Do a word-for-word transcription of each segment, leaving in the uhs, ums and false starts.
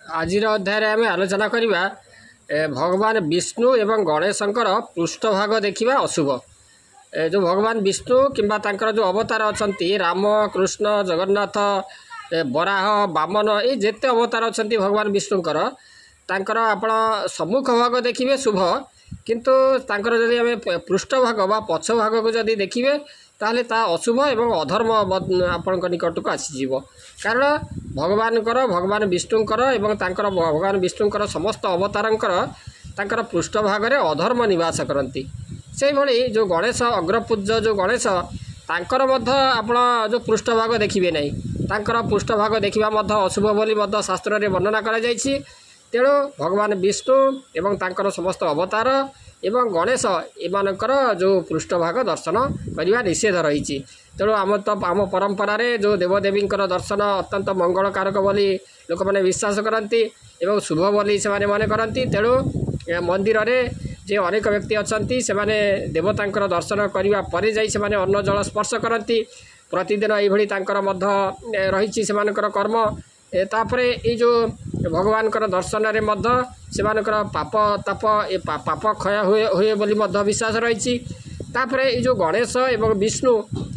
ଆଜିର ଅଧ୍ୟାୟରେ ଆମେ ଆଲୋଚନା କରିବା ଏ, ଭଗବାନ ବିଷ୍ଣୁ ଏବଂ ଗଣେଶଙ୍କର ପୃଷ୍ଠଭାଗ ଦେଖିବା ଅଶୁଭ। ଏ ଯେଉଁ ଭଗବାନ ବିଷ୍ଣୁ କିମ୍ବା ତାଙ୍କର ଯେଉଁ ଅବତାର ଅଛନ୍ତି, ରାମ, କୃଷ୍ଣ, ଜଗନ୍ନାଥ, ଏ, ବରାହ, ବାମନ, ଏଇ ଯେତେ ଅବତାର ଅଛନ୍ତି ଭଗବାନ ବିଷ୍ଣୁଙ୍କର, ତାଙ୍କର ଆପଣ ସମ୍ମୁଖ ଭାଗ ଦେଖିବେ ଶୁଭ, କିନ୍ତୁ ତାଙ୍କର ଯଦି ଆମେ ପୃଷ୍ଠଭାଗ ବା ପଛ ଭାଗକୁ ଯଦି ଦେଖିବେ, ତାହେଲେ ତା ଅଶୁଭ ଏବଂ ଅଧର୍ମ ଆପଣଙ୍କ ନିକଟକୁ ଆସିଯିବ। କାରଣ ଭଗବାନଙ୍କର, ଭଗବାନ ବିଷ୍ଣୁଙ୍କର ଏବଂ ତାଙ୍କର ଭଗବାନ ବିଷ୍ଣୁଙ୍କର ସମସ୍ତ ଅବତାରଙ୍କର ତାଙ୍କର ପୃଷ୍ଠଭାଗରେ ଅଧର୍ମ ନିବାସ କରନ୍ତି। ସେଇଭଳି ଯେଉଁ ଗଣେଶ, ଅଗ୍ରପୂଜ୍ୟ ଯେଉଁ ଗଣେଶ, ତାଙ୍କର ମଧ୍ୟ ଆପଣ ଯେଉଁ ପୃଷ୍ଠଭାଗ ଦେଖିବେ ନାହିଁ। ତାଙ୍କର ପୃଷ୍ଠଭାଗ ଦେଖିବା ମଧ୍ୟ ଅଶୁଭ ବୋଲି ମଧ୍ୟ ଶାସ୍ତ୍ରରେ ବର୍ଣ୍ଣନା କରାଯାଇଛି। ତେଣୁ ଭଗବାନ ବିଷ୍ଣୁ ଏବଂ ତାଙ୍କର ସମସ୍ତ ଅବତାର ଏବଂ ଗଣେଶ, ଏମାନଙ୍କର ଯେଉଁ ପୃଷ୍ଠଭାଗ ଦର୍ଶନ କରିବା ନିଷେଧ ରହିଛି। ତେଣୁ ଆମ ତ ଆମ ପରମ୍ପରାରେ ଯେଉଁ ଦେବଦେବୀଙ୍କର ଦର୍ଶନ ଅତ୍ୟନ୍ତ ମଙ୍ଗଳକାରକ ବୋଲି ଲୋକମାନେ ବିଶ୍ୱାସ କରନ୍ତି ଏବଂ ଶୁଭ ବୋଲି ସେମାନେ ମନେ କରନ୍ତି। ତେଣୁ ମନ୍ଦିରରେ ଯେ ଅନେକ ବ୍ୟକ୍ତି ଅଛନ୍ତି, ସେମାନେ ଦେବତାଙ୍କର ଦର୍ଶନ କରିବା ପରେ ଯାଇ ସେମାନେ ଅନ୍ନ ଜଳ ସ୍ପର୍ଶ କରନ୍ତି ପ୍ରତିଦିନ। ଏଇଭଳି ତାଙ୍କର ମଧ୍ୟ ରହିଛି ସେମାନଙ୍କର କର୍ମ। ତାପରେ ଏଇ ଯେଉଁ ଭଗବାନଙ୍କର ଦର୍ଶନରେ ମଧ୍ୟ ସେମାନଙ୍କର ପାପ ତାପ ଏ ପାପ କ୍ଷୟ ହୁଏ ହୁଏ ବୋଲି ମଧ୍ୟ ବିଶ୍ୱାସ ରହିଛି। ତାପରେ ଏଇ ଯେଉଁ ଗଣେଶ ଏବଂ ବିଷ୍ଣୁ,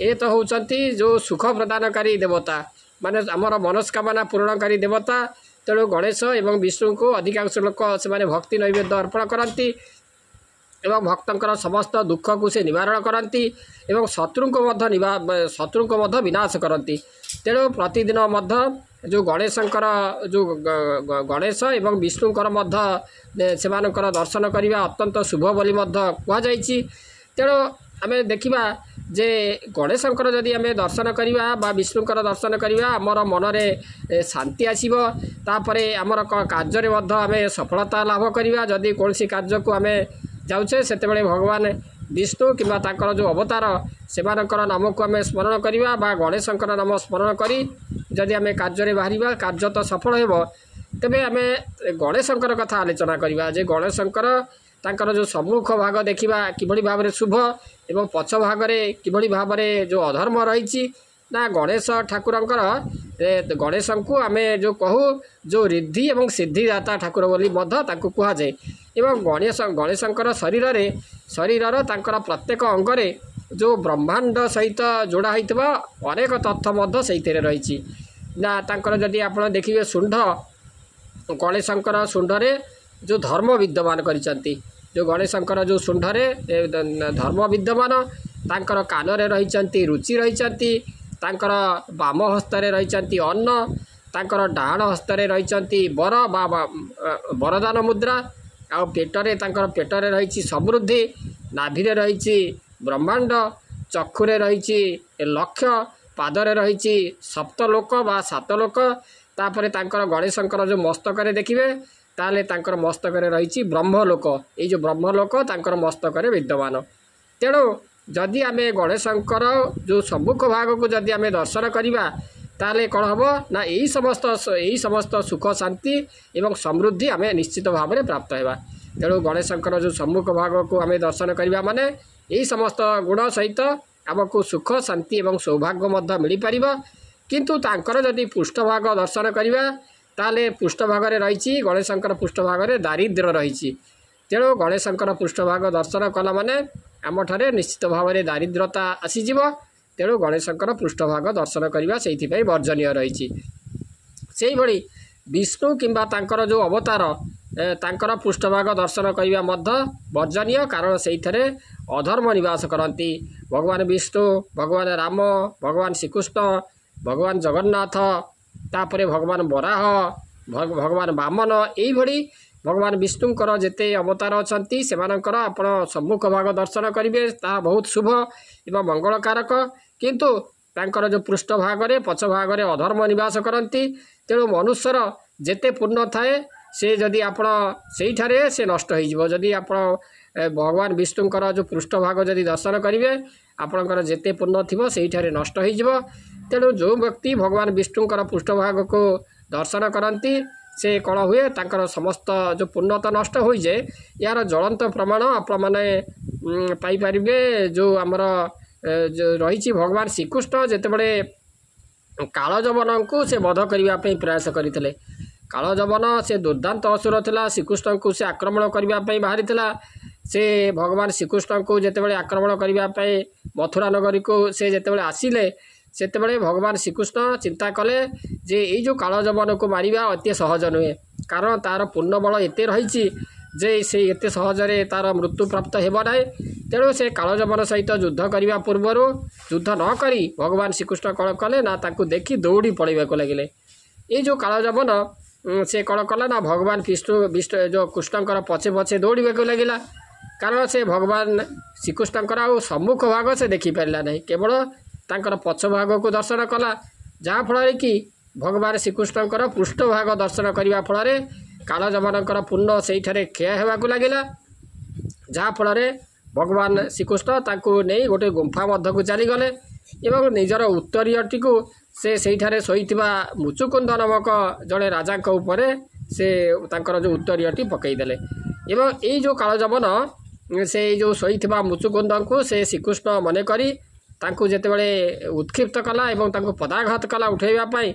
ଏ ତ ହେଉଛନ୍ତି ଯେଉଁ ସୁଖ ପ୍ରଦାନକାରୀ ଦେବତା, ମାନେ ଆମର ମନସ୍କାମନା ପୂରଣକାରୀ ଦେବତା। ତେଣୁ ଗଣେଶ ଏବଂ ବିଷ୍ଣୁଙ୍କୁ ଅଧିକାଂଶ ଲୋକ ସେମାନେ ଭକ୍ତି ନୈବେଦ୍ୟ ଅର୍ପଣ କରନ୍ତି ଏବଂ ଭକ୍ତଙ୍କର ସମସ୍ତ ଦୁଃଖକୁ ସେ ନିବାରଣ କରନ୍ତି ଏବଂ ଶତ୍ରୁଙ୍କୁ ମଧ୍ୟ ଶତ୍ରୁଙ୍କୁ ମଧ୍ୟ ବିନାଶ କରନ୍ତି। ତେଣୁ ପ୍ରତିଦିନ ମଧ୍ୟ ଯେଉଁ ଗଣେଶଙ୍କର ଯେଉଁ ଗଣେଶ ଏବଂ ବିଷ୍ଣୁଙ୍କର ମଧ୍ୟ ସେମାନଙ୍କର ଦର୍ଶନ କରିବା ଅତ୍ୟନ୍ତ ଶୁଭ ବୋଲି ମଧ୍ୟ କୁହାଯାଇଛି। ତେଣୁ ଆମେ ଦେଖିବା ଯେ ଗଣେଶଙ୍କର ଯଦି ଆମେ ଦର୍ଶନ କରିବା ବା ବିଷ୍ଣୁଙ୍କର ଦର୍ଶନ କରିବା, ଆମର ମନରେ ଶାନ୍ତି ଆସିବ। ତାପରେ ଆମର କାର୍ଯ୍ୟରେ ମଧ୍ୟ ଆମେ ସଫଳତା ଲାଭ କରିବା। ଯଦି କୌଣସି କାର୍ଯ୍ୟକୁ ଆମେ ଯାଉଛେ, ସେତେବେଳେ ଭଗବାନ ବିଷ୍ଣୁ କିମ୍ବା ତାଙ୍କର ଯେଉଁ ଅବତାର ସେମାନଙ୍କର ନାମକୁ ଆମେ ସ୍ମରଣ କରିବା ବା ଗଣେଶଙ୍କର ନାମ ସ୍ମରଣ କରି ଯଦି ଆମେ କାର୍ଯ୍ୟରେ ବାହାରିବା, କାର୍ଯ୍ୟ ତ ସଫଳ ହେବ। ତେବେ ଆମେ ଗଣେଶଙ୍କର କଥା ଆଲୋଚନା କରିବା ଯେ ଗଣେଶଙ୍କର ତାଙ୍କର ଯେଉଁ ସମ୍ମୁଖ ଭାଗ ଦେଖିବା କିଭଳି ଭାବରେ ଶୁଭ ଏବଂ ପଛ ଭାଗରେ କିଭଳି ଭାବରେ ଯେଉଁ ଅଧର୍ମ ରହିଛି। ନା, ଗଣେଶ ଠାକୁରଙ୍କର, ଗଣେଶଙ୍କୁ ଆମେ ଯେଉଁ କହୁ ଯେଉଁ ରିଦ୍ଧି ଏବଂ ସିଦ୍ଧିଦାତା ଠାକୁର ବୋଲି ମଧ୍ୟ ତାଙ୍କୁ କୁହାଯାଏ। ଏବଂ ଗଣେଶ ଗଣେଶଙ୍କର ଶରୀରରେ ଶରୀରର ତାଙ୍କର ପ୍ରତ୍ୟେକ ଅଙ୍ଗରେ ଯେଉଁ ବ୍ରହ୍ମାଣ୍ଡ ସହିତ ଯୋଡ଼ା ହୋଇଥିବା ଅନେକ ତଥ୍ୟ ମଧ୍ୟ ସେଇଥିରେ ରହିଛି। ନା, ତାଙ୍କର ଯଦି ଆପଣ ଦେଖିବେ ଶୁଣ୍ଢ, ଗଣେଶଙ୍କର ଶୁଣ୍ଢରେ ଯେଉଁ ଧର୍ମ ବିଦ୍ୟମାନ କରିଛନ୍ତି, ଯେଉଁ ଗଣେଶଙ୍କର ଯେଉଁ ଶୁଣ୍ଢରେ ଧର୍ମ ବିଦ୍ୟମାନ, ତାଙ୍କର କାନରେ ରହିଛନ୍ତି ରୁଚି ରହିଛନ୍ତି, ତାଙ୍କର ବାମ ହସ୍ତରେ ରହିଛନ୍ତି ଅନ୍ନ, ତାଙ୍କର ଡାହାଣ ହସ୍ତରେ ରହିଛନ୍ତି ବର ବା ବରଦାନ ମୁଦ୍ରା, ଆଉ ପେଟରେ ତାଙ୍କର ପେଟରେ ରହିଛି ସମୃଦ୍ଧି, ନାଭିରେ ରହିଛି ବ୍ରହ୍ମାଣ୍ଡ, ଚକ୍ଷୁରେ ରହିଛି ଲକ୍ଷ୍ୟ, ପାଦରେ ରହିଛି ସପ୍ତଲୋକ ବା ସାତ ଲୋକ। ତାପରେ ତାଙ୍କର ଗଣେଶଙ୍କର ଯେଉଁ ମସ୍ତକରେ ଦେଖିବେ, ତାହେଲେ ତାଙ୍କର ମସ୍ତକରେ ରହିଛି ବ୍ରହ୍ମଲୋକ। ଏଇ ଯେଉଁ ବ୍ରହ୍ମଲୋକ ତାଙ୍କର ମସ୍ତକରେ ବିଦ୍ୟମାନ। ତେଣୁ ଯଦି ଆମେ ଗଣେଶଙ୍କର ଯେଉଁ ସମ୍ମୁଖ ଭାଗକୁ ଯଦି ଆମେ ଦର୍ଶନ କରିବା, ତାହେଲେ କ'ଣ ହେବ ନା ଏଇ ସମସ୍ତ ଏଇ ସମସ୍ତ ସୁଖ, ଶାନ୍ତି ଏବଂ ସମୃଦ୍ଧି ଆମେ ନିଶ୍ଚିତ ଭାବରେ ପ୍ରାପ୍ତ ହେବା। ତେଣୁ ଗଣେଶଙ୍କର ଯେଉଁ ସମ୍ମୁଖ ଭାଗକୁ ଆମେ ଦର୍ଶନ କରିବା ମାନେ ଏଇ ସମସ୍ତ ଗୁଣ ସହିତ ଆମକୁ ସୁଖ, ଶାନ୍ତି ଏବଂ ସୌଭାଗ୍ୟ ମଧ୍ୟ ମିଳିପାରିବ। କିନ୍ତୁ ତାଙ୍କର ଯଦି ପୃଷ୍ଠଭାଗ ଦର୍ଶନ କରିବା, ତାହେଲେ ପୃଷ୍ଠଭାଗରେ ରହିଛି, ଗଣେଶଙ୍କର ପୃଷ୍ଠଭାଗରେ ଦାରିଦ୍ର୍ୟ ରହିଛି। ତେଣୁ ଗଣେଶଙ୍କର ପୃଷ୍ଠଭାଗ ଦର୍ଶନ କଲା ମାନେ ଆମଠାରେ ନିଶ୍ଚିତ ଭାବରେ ଦାରିଦ୍ରତା ଆସିଯିବ। ତେଣୁ ଗଣେଶଙ୍କର ପୃଷ୍ଠଭାଗ ଦର୍ଶନ କରିବା ସେଇଥିପାଇଁ ବର୍ଜନୀୟ ରହିଛି। ସେଇଭଳି ବିଷ୍ଣୁ କିମ୍ବା ତାଙ୍କର ଯେଉଁ ଅବତାର, ତାଙ୍କର ପୃଷ୍ଠଭାଗ ଦର୍ଶନ କରିବା ମଧ୍ୟ ବର୍ଜନୀୟ, କାରଣ ସେଇଥିରେ ଅଧର୍ମ ନିବାସ କରନ୍ତି। ଭଗବାନ ବିଷ୍ଣୁ, ଭଗବାନ ରାମ, ଭଗବାନ ଶ୍ରୀକୃଷ୍ଣ, ଭଗବାନ ଜଗନ୍ନାଥ, ତାପରେ ଭଗବାନ ବରାହ, ଭଗବାନ ବାମନ, ଏଇଭଳି ଭଗବାନ ବିଷ୍ଣୁଙ୍କର ଯେତେ ଅବତାର ଅଛନ୍ତି, ସେମାନଙ୍କର ଆପଣ ସମ୍ମୁଖ ଭାଗ ଦର୍ଶନ କରିବେ, ତାହା ବହୁତ ଶୁଭ ଏବଂ ମଙ୍ଗଳକାରକ। କିନ୍ତୁ ତାଙ୍କର ଯେଉଁ ପୃଷ୍ଠଭାଗରେ, ପଛ ଭାଗରେ ଅଧର୍ମ ନିବାସ କରନ୍ତି। ତେଣୁ ମନୁଷ୍ୟର ଯେତେ ପୂର୍ଣ୍ଣ ଥାଏ, ସେ ଯଦି ଆପଣ ସେଇଠାରେ ସେ ନଷ୍ଟ ହୋଇଯିବ। ଯଦି ଆପଣ ଭଗବାନ ବିଷ୍ଣୁଙ୍କର ଯେଉଁ ପୃଷ୍ଠଭାଗ ଯଦି ଦର୍ଶନ କରିବେ, ଆପଣଙ୍କର ଯେତେ ପୂର୍ଣ୍ଣ ଥିବ ସେଇଠାରେ ନଷ୍ଟ ହୋଇଯିବ। ତେଣୁ ଯେଉଁ ବ୍ୟକ୍ତି ଭଗବାନ ବିଷ୍ଣୁଙ୍କର ପୃଷ୍ଠଭାଗକୁ ଦର୍ଶନ କରନ୍ତି, ସେ କ'ଣ ହୁଏ, ତାଙ୍କର ସମସ୍ତ ଯେଉଁ ପୂର୍ଣ୍ଣତା ନଷ୍ଟ ହୋଇଯାଏ। ଏହାର ଜ୍ୱଳନ୍ତ ପ୍ରମାଣ ଆପଣମାନେ ପାଇପାରିବେ ଯେଉଁ ଆମର ଯେଉଁ ରହିଛି, ଭଗବାନ ଶ୍ରୀକୃଷ୍ଣ ଯେତେବେଳେ କାଳଯବନଙ୍କୁ ସେ ବଧ କରିବା ପାଇଁ ପ୍ରୟାସ କରିଥିଲେ, କାଳଯବନ ସେ ଦୁର୍ଦ୍ଦାନ୍ତ ଅସୁର ଥିଲା। ଶ୍ରୀକୃଷ୍ଣଙ୍କୁ ସେ ଆକ୍ରମଣ କରିବା ପାଇଁ ବାହାରିଥିଲା। ସେ ଭଗବାନ ଶ୍ରୀକୃଷ୍ଣଙ୍କୁ ଯେତେବେଳେ ଆକ୍ରମଣ କରିବା ପାଇଁ ମଥୁରା ନଗରୀକୁ ସେ ଯେତେବେଳେ ଆସିଲେ, ସେତେବେଳେ ଭଗବାନ ଶ୍ରୀକୃଷ୍ଣ ଚିନ୍ତା କଲେ ଯେ ଏଇ ଯେଉଁ କାଳଯବନକୁ ମାରିବା ଅତି ସହଜ ନୁହେଁ, କାରଣ ତା'ର ପୂର୍ଣ୍ଣବଳ ଏତେ ରହିଛି ଯେ ସେ ଏତେ ସହଜରେ ତା'ର ମୃତ୍ୟୁ ପ୍ରାପ୍ତ ହେବ ନାହିଁ। ତେଣୁ ସେ କାଳଯବନ ସହିତ ଯୁଦ୍ଧ କରିବା ପୂର୍ବରୁ ଯୁଦ୍ଧ ନ କରି ଭଗବାନ ଶ୍ରୀକୃଷ୍ଣ କ'ଣ କଲେ ନା ତାକୁ ଦେଖି ଦୌଡ଼ି ପଳାଇବାକୁ ଲାଗିଲେ। ଏଇ ଯେଉଁ କାଳଯବନ ସେ କ'ଣ କଲା ନା ଭଗବାନ ବିଷ୍ଣୁ ବିଷ୍ଣୁ ଯେଉଁ କୃଷ୍ଣଙ୍କର ପଛେ ପଛେ ଦୌଡ଼ିବାକୁ ଲାଗିଲା, କାରଣ ସେ ଭଗବାନ ଶ୍ରୀକୃଷ୍ଣଙ୍କର ଆଉ ସମ୍ମୁଖ ଭାଗ ସେ ଦେଖିପାରିଲା ନାହିଁ, କେବଳ ତାଙ୍କର ପଛ ଭାଗକୁ ଦର୍ଶନ କଲା, ଯାହାଫଳରେ କି ଭଗବାନ ଶ୍ରୀକୃଷ୍ଣଙ୍କର ପୃଷ୍ଠଭାଗ ଦର୍ଶନ କରିବା ଫଳରେ କାଳଯବନଙ୍କର ପୂର୍ଣ୍ଣ ସେଇଠାରେ କ୍ଷୟ ହେବାକୁ ଲାଗିଲା। ଯାହାଫଳରେ ଭଗବାନ ଶ୍ରୀକୃଷ୍ଣ ତାଙ୍କୁ ନେଇ ଗୋଟେ ଗୁମ୍ଫା ମଧ୍ୟକୁ ଚାଲିଗଲେ ଏବଂ ନିଜର ଉତ୍ତରୀୟଟିକୁ ସେ ସେଇଠାରେ ଶୋଇଥିବା ମୁଚୁକୁନ୍ଦ ନାମକ ଜଣେ ରାଜାଙ୍କ ଉପରେ ସେ ତାଙ୍କର ଯେଉଁ ଉତ୍ତରୀୟଟି ପକାଇଦେଲେ। ଏବଂ ଏଇ ଯେଉଁ କାଳଯବନ ସେ ଯେଉଁ ଶୋଇଥିବା ମୁଚୁକୁନ୍ଦଙ୍କୁ ସେ ଶ୍ରୀକୃଷ୍ଣ ମନେକରି ତାଙ୍କୁ ଯେତେବେଳେ ଉତ୍କ୍ଷିପ୍ତ କଲା ଏବଂ ତାଙ୍କୁ ପଦାଘାତ କଲା ଉଠାଇବା ପାଇଁ,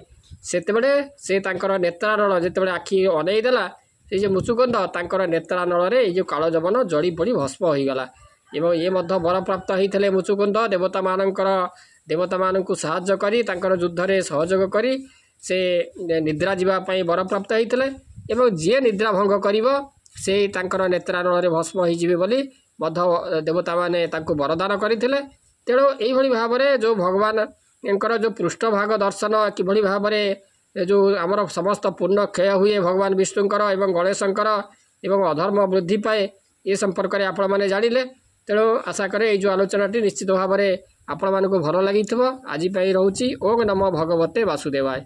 ସେତେବେଳେ ସେ ତାଙ୍କର ନେତ୍ରାନଳ ଯେତେବେଳେ ଆଖି ଅନେଇ ଦେଲା, ସେଇ ଯେ ମୁଚୁକୁନ୍ଦ ତାଙ୍କର ନେତ୍ରାନଳରେ ଏଇ ଯେଉଁ କାଳଯବନ ଜଳି ପଡ଼ି ଭସ୍ମ ହୋଇଗଲା। ଏବଂ ଇଏ ମଧ୍ୟ ବରପ୍ରାପ୍ତ ହେଇଥିଲେ ମୁଚୁକୁନ୍ଦ, ଦେବତାମାନଙ୍କର ଦେବତାମାନଙ୍କୁ ସାହାଯ୍ୟ କରି ତାଙ୍କର ଯୁଦ୍ଧରେ ସହଯୋଗ କରି ସେ ନିଦ୍ରା ଯିବା ପାଇଁ ବରପ୍ରାପ୍ତ ହେଇଥିଲେ ଏବଂ ଯିଏ ନିଦ୍ରା ଭଙ୍ଗ କରିବ ସେ ତାଙ୍କର ନେତ୍ରାନଳରେ ଭସ୍ମ ହେଇଯିବେ ବୋଲି ମଧ୍ୟ ଦେବତାମାନେ ତାଙ୍କୁ ବରଦାନ କରିଥିଲେ। ତେଣୁ ଏଇଭଳି ଭାବରେ ଯେଉଁ ଭଗବାନଙ୍କର ଯେଉଁ ପୃଷ୍ଠଭାଗ ଦର୍ଶନ କିଭଳି ଭାବରେ ଯେଉଁ ଆମର ସମସ୍ତ ପୂର୍ଣ୍ଣ କ୍ଷୟ ହୁଏ ଭଗବାନ ବିଷ୍ଣୁଙ୍କର ଏବଂ ଗଣେଶଙ୍କର ଏବଂ ଅଧର୍ମ ବୃଦ୍ଧି ପାଏ, ଏ ସମ୍ପର୍କରେ ଆପଣମାନେ ଜାଣିଲେ। ତେଣୁ ଆଶା କରେ ଏଇ ଯେଉଁ ଆଲୋଚନାଟି ନିଶ୍ଚିତ ଭାବରେ ଆପଣମାନଙ୍କୁ ଭଲ ଲାଗିଥିବ। ଆଜି ପାଇଁ ରହୁଛି। ଓଁ ନମୋ ଭଗବତେ ବାସୁଦେବାୟ।